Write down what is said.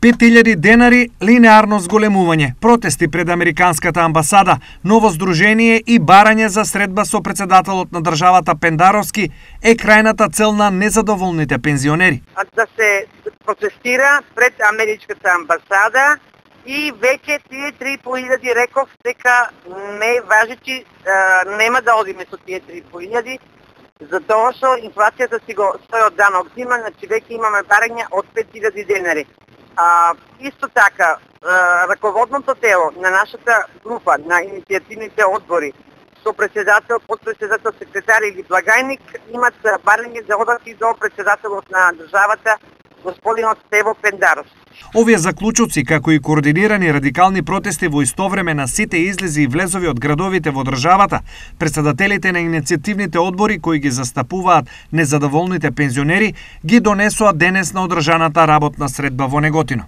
5.000 денари линеарно зголемување, протести пред Американската амбасада, ново здружение и барање за средба со председателот на државата Пендаровски е крајната цел на незадоволните пензионери. Да се протестира пред Американската амбасада и веќе тие 3.500 реков дека не важечи, нема да одиме со тие 3.500, затоа што инфлацијата си го стои од данок зима, значи веќе имаме барање од 5.000 денари. Исто така, раководното тело на нашата група, на иницијативните одбори, со председател, подпредседател, секретар или благајник, имат барање за одат и до председателот на државата, господинот Стево Пендаров. Овие заклучоци, како и координирани радикални протести во исто време на сите излези и влезови од градовите во државата, председателите на иницијативните одбори кои ги застапуваат незадоволните пензионери, ги донесоа денес на одржаната работна средба во Неготино.